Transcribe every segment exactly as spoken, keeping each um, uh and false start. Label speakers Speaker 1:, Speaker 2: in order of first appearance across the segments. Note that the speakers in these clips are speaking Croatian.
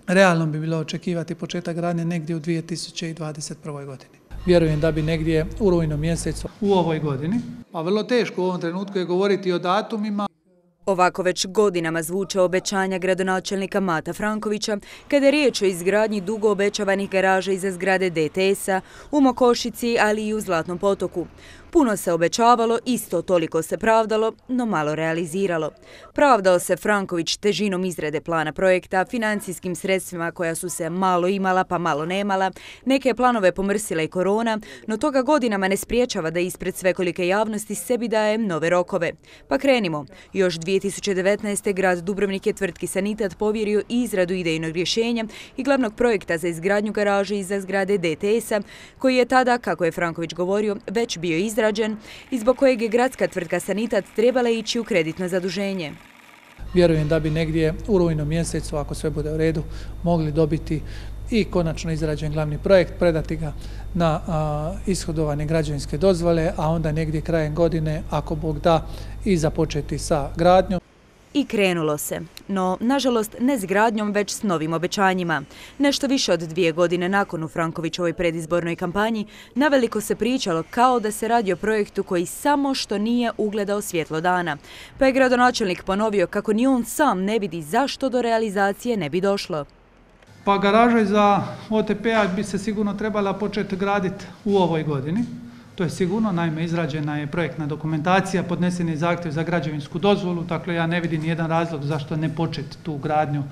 Speaker 1: Realno bi bilo očekivati početak gradnje negdje u dvije tisuće dvadeset prvoj godini. Vjerujem da bi negdje u rujnu mjesecu u ovoj godini, a vrlo teško u ovom trenutku je govoriti o datumima.
Speaker 2: Ovako već godinama zvuče obećanja gradonačelnika Mata Frankovića kada je riječ o izgradnji dugo obećavanih garaža iza zgrade D T S-a u Mokošici, ali i u Zlatnom potoku. Puno se obećavalo, isto toliko se pravdalo, no malo realiziralo. Pravdao se Franković težinom izrade plana projekta, financijskim sredstvima koja su se malo imala pa malo nemala, neke planove pomrsila i korona, no toga godinama ne spriječava da ispred svekolike javnosti sebi daje nove rokove. Pa krenimo. Još dvije tisuće devetnaeste. grad Dubrovnik je tvrtki Sanitat povjerio izradu idejnog rješenja i glavnog projekta za izgradnju garaže iza zgrade D T S-a, koji je tada, kako je Franković govorio, već bio izrađen i zbog kojeg je gradska tvrtka Sanitat trebala ići u kreditno zaduženje.
Speaker 1: Vjerujem da bi negdje u rujnu mjesecu, ako sve bude u redu, mogli dobiti i konačno izrađen glavni projekt, predati ga na a, ishodovane građevinske dozvole, a onda negdje krajem godine, ako Bog da, i započeti sa gradnjom.
Speaker 2: I krenulo se, no nažalost ne s gradnjom, već s novim obećanjima. Nešto više od dvije godine nakon u Frankovićovoj predizbornoj kampanji naveliko se pričalo kao da se radi o projektu koji samo što nije ugledao svjetlo dana. Pa je gradonačelnik ponovio kako ni on sam ne vidi zašto do realizacije ne bi došlo.
Speaker 1: Pa garaža za O T P-a bi se sigurno trebala početi graditi u ovoj godini. To je sigurno, naime izrađena je projektna dokumentacija, podnesen je zahtjev za građevinsku dozvolu, dakle ja ne vidim nijedan razlog zašto ne početi tu gradnju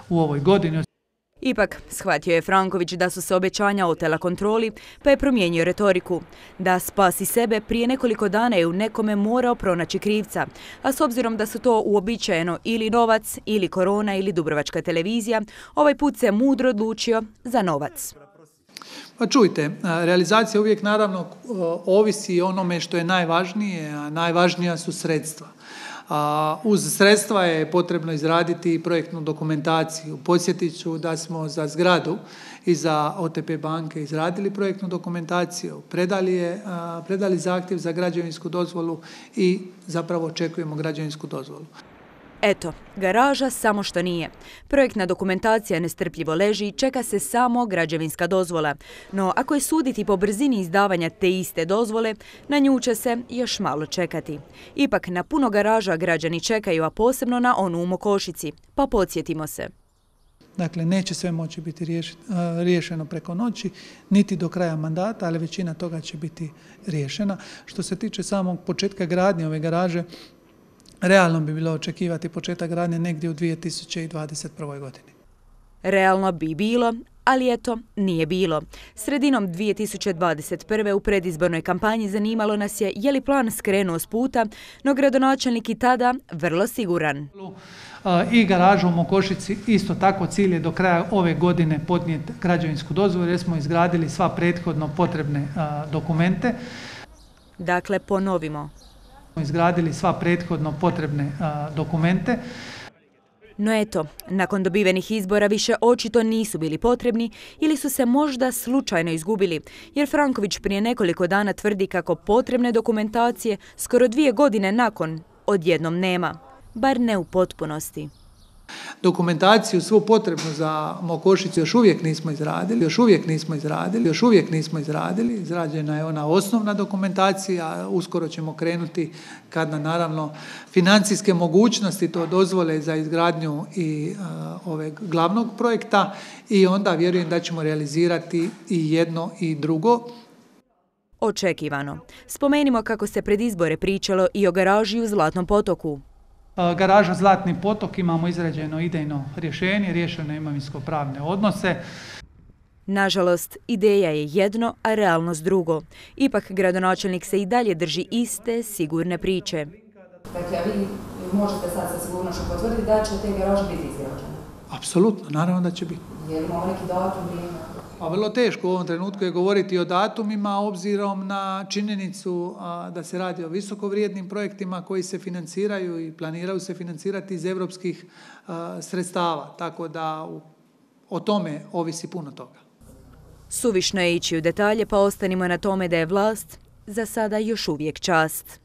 Speaker 1: u ovoj godini.
Speaker 2: Ipak, shvatio je Franković da su se obećanja otela kontroli, pa je promijenio retoriku. Da spasi sebe, prije nekoliko dana je u nekome morao pronaći krivca, a s obzirom da su to uobičajeno ili novac, ili korona, ili Dubrovačka televizija, ovaj put se mudro odlučio za novac.
Speaker 1: Pa čujte, realizacija uvijek naravno ovisi o onome što je najvažnije, a najvažnija su sredstva. A uz sredstva je potrebno izraditi projektnu dokumentaciju. Podsjetit ću da smo za zgradu i za O T P banke izradili projektnu dokumentaciju, predali, je, predali zahtjev za građevinsku dozvolu i zapravo očekujemo građevinsku dozvolu.
Speaker 2: Eto, garaža samo što nije. Projektna dokumentacija nestrpljivo leži i čeka se samo građevinska dozvola. No ako je suditi po brzini izdavanja te iste dozvole, na nju će se još malo čekati. Ipak na puno garaža građani čekaju, a posebno na onu u Mokošici. Pa podsjetimo se.
Speaker 1: Dakle, neće sve moći biti riješeno preko noći, niti do kraja mandata, ali većina toga će biti riješena. Što se tiče samog početka gradnje ove garaže, realno bi bilo očekivati početak gradnje negdje u dvije tisuće dvadeset prvoj godini.
Speaker 2: Realno bi bilo, ali eto, nije bilo. Sredinom dvije tisuće dvadeset prve. u predizbornoj kampanji zanimalo nas je je li plan skrenuo s puta, no gradonačelnik i tada vrlo siguran.
Speaker 1: I garažu u Mokošici isto tako cilj je do kraja ove godine podnijeti građevinsku dozvolu jer smo izgradili sva prethodno potrebne dokumente.
Speaker 2: Dakle, ponovimo.
Speaker 1: Izgradili sva prethodno potrebne a, dokumente.
Speaker 2: No eto, nakon dobivenih izbora više očito nisu bili potrebni ili su se možda slučajno izgubili, jer Franković prije nekoliko dana tvrdi kako potrebne dokumentacije skoro dvije godine nakon odjednom nema, bar ne u potpunosti.
Speaker 1: Dokumentaciju svu potrebnu za Mokošicu još uvijek nismo izradili, još uvijek nismo izradili, još uvijek nismo izradili. Izrađena je ona osnovna dokumentacija, uskoro ćemo krenuti kad na naravno financijske mogućnosti to dozvole za izgradnju i uh, ove glavnog projekta i onda vjerujem da ćemo realizirati i jedno i drugo.
Speaker 2: Očekivano. Spomenimo kako se pred izbore pričalo i o garaži u Zlatnom potoku.
Speaker 1: Garaža Zlatni potok, imamo izrađeno idejno rješenje, riješeno imovinsko-pravne odnose.
Speaker 2: Nažalost, ideja je jedno, a realnost drugo. Ipak gradonačelnik se i dalje drži iste, sigurne priče.
Speaker 3: Dakle, vi možete sad sa sigurnošću potvrditi da će te garaže biti izgrađene?
Speaker 1: Apsolutno, naravno da će biti.
Speaker 3: Je li imamo neki datum?
Speaker 1: A vrlo teško u ovom trenutku je govoriti o datumima obzirom na činjenicu a, da se radi o visokovrijednim projektima koji se financiraju i planiraju se financirati iz europskih a, sredstava. Tako da u, o tome ovisi puno toga.
Speaker 2: Suvišno je ići u detalje, pa ostanimo na tome da je vlast za sada još uvijek čast.